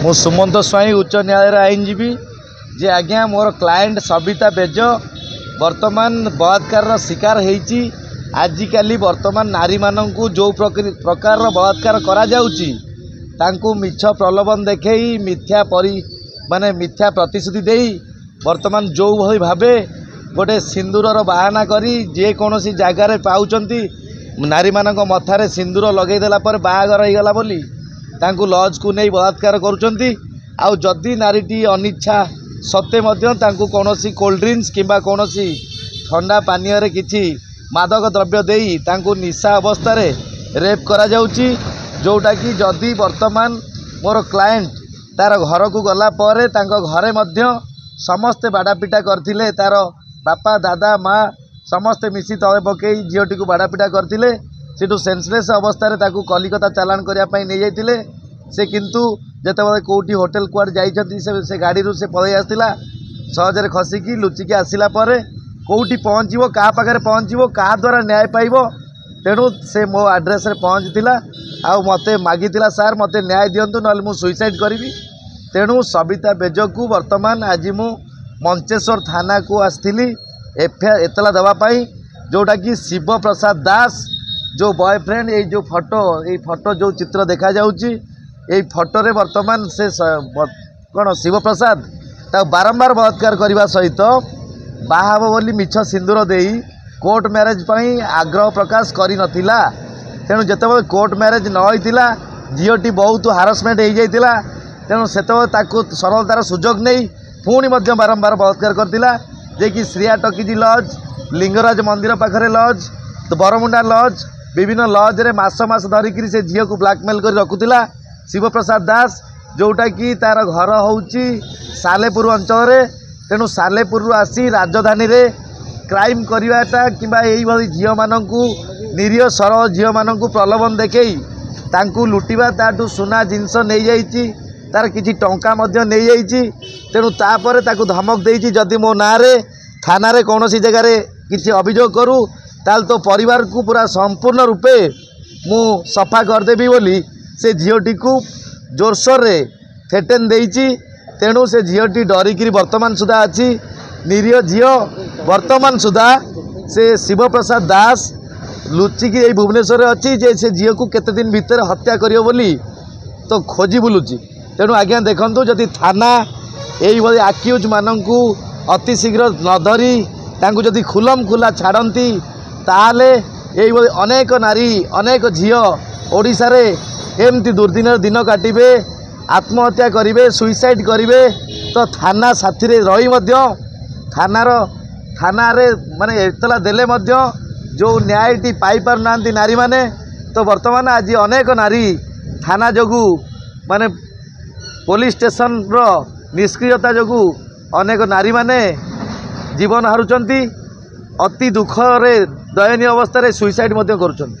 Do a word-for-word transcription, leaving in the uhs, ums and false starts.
ମୁଁ ସୁମନ୍ତ ସ୍ୱାଇଁ, ଉଚ୍ଚ ନ୍ୟାୟାଳୟର ଆଇନଜୀବୀ। ଯେ ଆଜ୍ଞା, ମୋର କ୍ଲାଏଣ୍ଟ ସବିତା ବେଜ ବର୍ତ୍ତମାନ ବଳାତ୍କାରର ଶିକାର ହେଇଛି। ଆଜିକାଲି ବର୍ତ୍ତମାନ ନାରୀମାନଙ୍କୁ ଯେଉଁ ପ୍ରକାରର ବଳାତ୍କାର କରାଯାଉଛି, ତାଙ୍କୁ ମିଛ ପ୍ରଲୋଭନ ଦେଖେଇ, ମିଥ୍ୟା ପରି ମାନେ ମିଥ୍ୟା ପ୍ରତିଶ୍ରୁତି ଦେଇ, ବର୍ତ୍ତମାନ ଯେଉଁଭଳି ଭାବେ ଗୋଟେ ସିନ୍ଦୁରର ବାହାନା କରି ଯେକୌଣସି ଜାଗାରେ ପାଉଛନ୍ତି, ନାରୀମାନଙ୍କ ମଥାରେ ସିନ୍ଦୁର ଲଗେଇ ଦେଲା ପରେ ବାହାଘର ହେଇଗଲା ବୋଲି ତାଙ୍କୁ ଲଜ୍କୁ ନେଇ ବଳାତ୍କାର କରୁଛନ୍ତି। ଆଉ ଯଦି ନାରୀଟି ଅନିଚ୍ଛା ସତ୍ତ୍ୱେ ମଧ୍ୟ ତାଙ୍କୁ କୌଣସି କୋଲ୍ଡ ଡ୍ରିଙ୍କସ୍ କିମ୍ବା କୌଣସି ଥଣ୍ଡା ପାନୀୟରେ କିଛି ମାଦକ ଦ୍ରବ୍ୟ ଦେଇ ତାଙ୍କୁ ନିଶା ଅବସ୍ଥାରେ ରେପ୍ କରାଯାଉଛି। ଯେଉଁଟାକି ଯଦି ବର୍ତ୍ତମାନ ମୋର କ୍ଲାଏଣ୍ଟ ତା'ର ଘରକୁ ଗଲା ପରେ ତାଙ୍କ ଘରେ ମଧ୍ୟ ସମସ୍ତେ ବାଡ଼ାପିଟା କରିଥିଲେ। ତା'ର ବାପା, ଦାଦା, ମା ସମସ୍ତେ ମିଶି ତଳେ ପକାଇ ଝିଅଟିକୁ ବାଡ଼ାପିଟା କରିଥିଲେ। ସେଠୁ ସେନ୍ସଲେସ୍ ଅବସ୍ଥାରେ ତାକୁ କଲିକତା ଚାଲାଣ କରିବା ପାଇଁ ନେଇଯାଇଥିଲେ। ସେ କିନ୍ତୁ ଯେତେବେଳେ କେଉଁଠି ହୋଟେଲ କୁଆଡ଼େ ଯାଇଛନ୍ତି, ସେ ସେ ଗାଡ଼ିରୁ ସେ ପଳେଇ ଆସିଥିଲା ସହଜରେ ଖସିକି। ଲୁଚିକି ଆସିଲା ପରେ କେଉଁଠି ପହଞ୍ଚିବ, କାହା ପାଖରେ ପହଞ୍ଚିବ, କାହା ଦ୍ୱାରା ନ୍ୟାୟ ପାଇବ? ତେଣୁ ସେ ମୋ ଆଡ୍ରେସ୍ରେ ପହଞ୍ଚିଥିଲା ଆଉ ମୋତେ ମାଗିଥିଲା, ସାର୍ ମୋତେ ନ୍ୟାୟ ଦିଅନ୍ତୁ, ନହେଲେ ମୁଁ ସୁଇସାଇଡ଼୍ କରିବି। ତେଣୁ ସବିତା ବେଜକୁ ବର୍ତ୍ତମାନ ଆଜି ମୁଁ ମଞ୍ଚେଶ୍ୱର ଥାନାକୁ ଆସିଥିଲି ଏଫ୍ ଏତଲା ଦେବା ପାଇଁ, ଯେଉଁଟାକି ଶିବପ୍ରସାଦ ଦାସ ଯେଉଁ ବୟଫ୍ରେଣ୍ଡ, ଏଇ ଯେଉଁ ଫଟୋ, ଏଇ ଫଟୋ ଯେଉଁ ଚିତ୍ର ଦେଖାଯାଉଛି ଏଇ ଫଟୋରେ, ବର୍ତ୍ତମାନ ସେ କ'ଣ ଶିବପ୍ରସାଦ ତାକୁ ବାରମ୍ବାର ବଳାତ୍କାର କରିବା ସହିତ ବାହା ହେବ ବୋଲି ମିଛ ସିନ୍ଦୁର ଦେଇ କୋର୍ଟ ମ୍ୟାରେଜ୍ ପାଇଁ ଆଗ୍ରହ ପ୍ରକାଶ କରିନଥିଲା। ତେଣୁ ଯେତେବେଳେ କୋର୍ଟ ମ୍ୟାରେଜ୍ ନ ହୋଇଥିଲା, ଝିଅଟି ବହୁତ ହାରାସମେଣ୍ଟ ହେଇଯାଇଥିଲା। ତେଣୁ ସେତେବେଳେ ତାକୁ ସରଳତାର ସୁଯୋଗ ନେଇ ପୁଣି ମଧ୍ୟ ବାରମ୍ବାର ବଳାତ୍କାର କରିଥିଲା, ଯିଏକି ଶ୍ରୀୟା ଟକିଜି ଲଜ୍, ଲିଙ୍ଗରାଜ ମନ୍ଦିର ପାଖରେ ଲଜ୍, ବରମୁଣ୍ଡା ଲଜ୍, ବିଭିନ୍ନ ଲଜ୍ରେ ମାସ ମାସ ଧରିକିରି ସେ ଝିଅକୁ ବ୍ଲାକମେଲ୍ କରି ରଖୁଥିଲା ଶିବପ୍ରସାଦ ଦାସ, ଯେଉଁଟାକି ତା'ର ଘର ହେଉଛି ସାଲେପୁର ଅଞ୍ଚଳରେ। ତେଣୁ ସାଲେପୁରରୁ ଆସି ରାଜଧାନୀରେ କ୍ରାଇମ୍ କରିବାଟା କିମ୍ବା ଏଇଭଳି ଝିଅମାନଙ୍କୁ, ନିରୀହ ସରଳ ଝିଅମାନଙ୍କୁ ପ୍ରଲୋଭନ ଦେଖେଇ ତାଙ୍କୁ ଲୁଟିବା, ତାଠୁ ସୁନା ଜିନିଷ ନେଇଯାଇଛି, ତାର କିଛି ଟଙ୍କା ମଧ୍ୟ ନେଇଯାଇଛି। ତେଣୁ ତାପରେ ତାକୁ ଧମକ ଦେଇଛି, ଯଦି ମୋ ନାଁରେ ଥାନାରେ କୌଣସି ଜାଗାରେ କିଛି ଅଭିଯୋଗ କରୁ, ତାହେଲେ ତୋ ପରିବାରକୁ ପୁରା ସମ୍ପୂର୍ଣ୍ଣ ରୂପେ ମୁଁ ସଫା କରିଦେବି ବୋଲି ସେ ଝିଅଟିକୁ ଜୋରସୋରରେ ଥ୍ରେଟେନ୍ ଦେଇଛି। ତେଣୁ ସେ ଝିଅଟି ଡରିକିରି ବର୍ତ୍ତମାନ ସୁଦ୍ଧା ଅଛି। ନିରୀହ ଝିଅ ବର୍ତ୍ତମାନ ସୁଦ୍ଧା ସେ ଶିବପ୍ରସାଦ ଦାସ ଲୁଚିକି ଏଇ ଭୁବନେଶ୍ୱରରେ ଅଛି, ଯେ ସେ ଝିଅକୁ କେତେ ଦିନ ଭିତରେ ହତ୍ୟା କରିବ ବୋଲି ତ ଖୋଜି ବୁଲୁଛି। ତେଣୁ ଆଜ୍ଞା ଦେଖନ୍ତୁ, ଯଦି ଥାନା ଏଇଭଳି ଆକ୍ୟୁଜ୍ ମାନଙ୍କୁ ଅତି ଶୀଘ୍ର ନ ଧରି ତାଙ୍କୁ ଯଦି ଖୁଲମ ଖୁଲା ଛାଡ଼ନ୍ତି, ତାହେଲେ ଏଇଭଳି ଅନେକ ନାରୀ, ଅନେକ ଝିଅ ଓଡ଼ିଶାରେ ଏମିତି ଦୁର୍ଦିନରେ ଦିନ କାଟିବେ, ଆତ୍ମହତ୍ୟା କରିବେ, ସୁଇସାଇଡ଼୍ କରିବେ। ତ ଥାନା ସାଥିରେ ରହି ମଧ୍ୟ, ଥାନାର ଥାନାରେ ମାନେ ଏତଲା ଦେଲେ ମଧ୍ୟ ଯେଉଁ ନ୍ୟାୟଟି ପାଇପାରୁନାହାନ୍ତି ନାରୀମାନେ, ତ ବର୍ତ୍ତମାନ ଆଜି ଅନେକ ନାରୀ ଥାନା ଯୋଗୁଁ, ମାନେ ପୋଲିସ ଷ୍ଟେସନର ନିଷ୍କ୍ରିୟତା ଯୋଗୁଁ ଅନେକ ନାରୀମାନେ ଜୀବନ ହାରୁଛନ୍ତି, ଅତି ଦୁଃଖରେ ଦୟନୀୟ ଅବସ୍ଥାରେ ସୁଇସାଇଡ଼୍ ମଧ୍ୟ କରୁଛନ୍ତି।